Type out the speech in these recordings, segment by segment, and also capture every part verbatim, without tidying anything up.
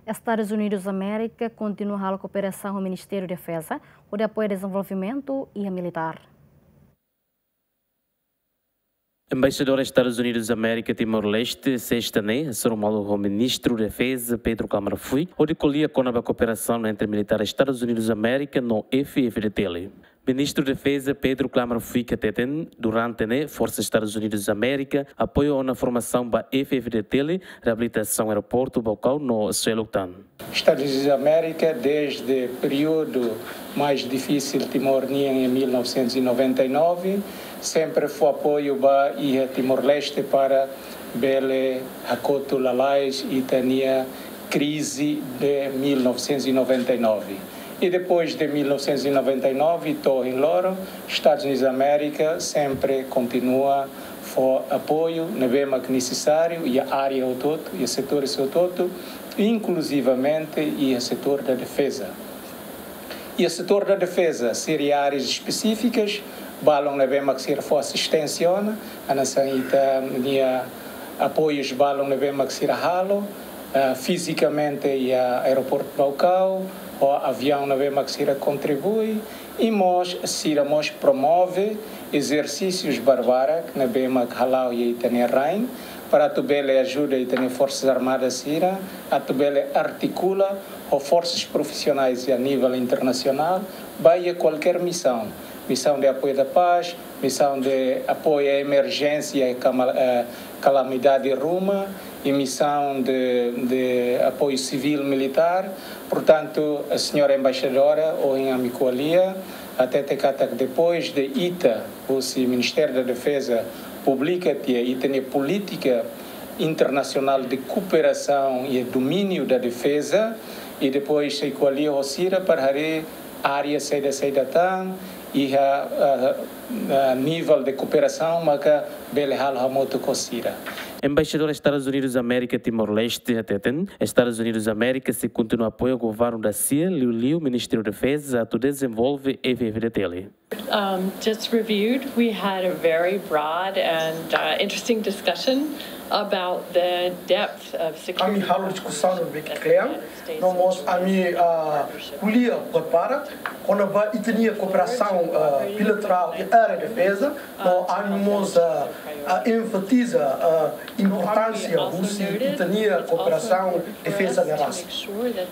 Estadus Unidus Amérika kontinua halo kooperasaun ho Ministériu Defeza hodi apoia dezenvolvimentu iha militár. Embaixadór Estadus Unidus Amérika Timor-Leste, sesta ne'e, hasoru malu ho Ministru Defeza Pedro Klamroth Fuik, hodi ko'alia kona-ba kooperasaun entre militár Estadus Unidus Amérika no F F D T L. Ministru Defeza Pedro Klamroth Fuik hateten, durante ne'e, Forsa Estadus Unidus Amérika apoia ona formasaun ba F F D T L, reabilitasaun aeroportu Baucau no seluk tan. Estadus Unidus Amérika, desde períodu mais difísil Timor nian em mil novecentos e noventa e nove, sempre fó apoiu ba iha Timor-Leste para bele hakotu lalais ita-nia krize de mil novecentos e noventa e nove. E depois de mil novecentos e noventa e nove, to'o ohin loron, Estadus Unidus Amérika sempre kontinua fó apoiu ne'ebé mak nesesáriu iha área hotu-hotu, iha setores hotu-hotu, inkluzivamente iha setór da defeza. Iha setór da defeza, sira iha áreas espesífikas, balun ne'ebé mak sira fó asisténsia ona, hanesan ita-nia apoius balun ne'ebé mak sira halo, eh, fizikamente iha aeroportu Baucau, ho aviaun ne'ebé mak sira kontribui, i mós sira mós promove ezersísius barbarak ne'ebé mak hala'o iha ita-nia rain, para atu bele ajuda ita-nia Forsas Armadas sira atu bele artikula ho forsas profisionais a nível internasionál, ba iha kualkér misaun, misaun de apoio da paz, misaun de apoio à emerjénsia e cama-, eh, calamidade ruma, e misaun de, de apoio civil militár. Portantu, a señora embaixadora, ohin ami ko'alia, hatete katak depois de ita, husi Ministériu da Defeza, publika tiha ita-nia polítika internasionál de kooperasaun iha domíniu da defeza, i depois sei ko'alia ho sira para haree área saida-saida tan iha, ah, ah, nivel de kooperasaun maka bele halo hamutuk ho sira. Embaixadór Estadus Unidus Amérika Timor-Leste hateten, Estadus Unidus Amérika sei kontinua apoia governu da sia, liuliu Ministériu Defeza, atu dezenvolve F F D T L. Um, just reviewed, we had a very broad and, uh, interesting discussion about the debts of security. Ami halo diskusaun ne'ebé kle'an, no mós ami, ah, ko'alia buat barak kona-ba ita-nia kooperasaun, ah, bilaterál iha área defeza, no ami mós, ah, ah, enfatiza, ah, importánsia husi ita-nia kooperasaun defeza ne'e rasik.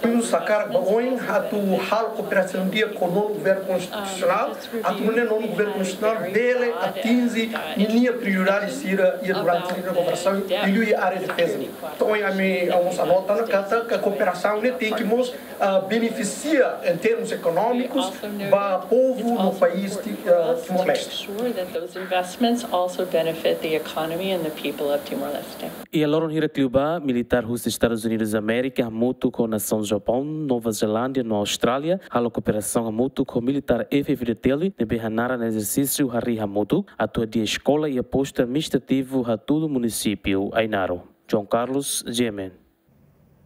Ami mós hakarak ba oin atu halo kooperasaun di'ak ho nonu governu konstitusionál, atu nune'e nonu governu konstitusionál bele atinje ninia prioridade sira iha durante ninia governasaun, liuliu iha área defeza. Entaun, ohin ami, ami mós anota ona katak kooperasaun ne'e tenke mós, ah, benefisia em termos económicos ba povu no país Ti-, ah, Timor-Leste. Sure that those investments also benefit the economy and the people of Timor-Leste. Iha loron hirak liubá, militár husi Estadus Unidus Amérika hamutuk ho nasaun Japaun, Nova Zelándia no Austrália halo kooperasaun hamutuk ho militár F F D T L ne'ebé hanaran ezersísiu Harii Hamutuk, atu hadi'a eskola iha postu administrativu Hatudu, munisípiu Ainaro. João Carlos, G M N.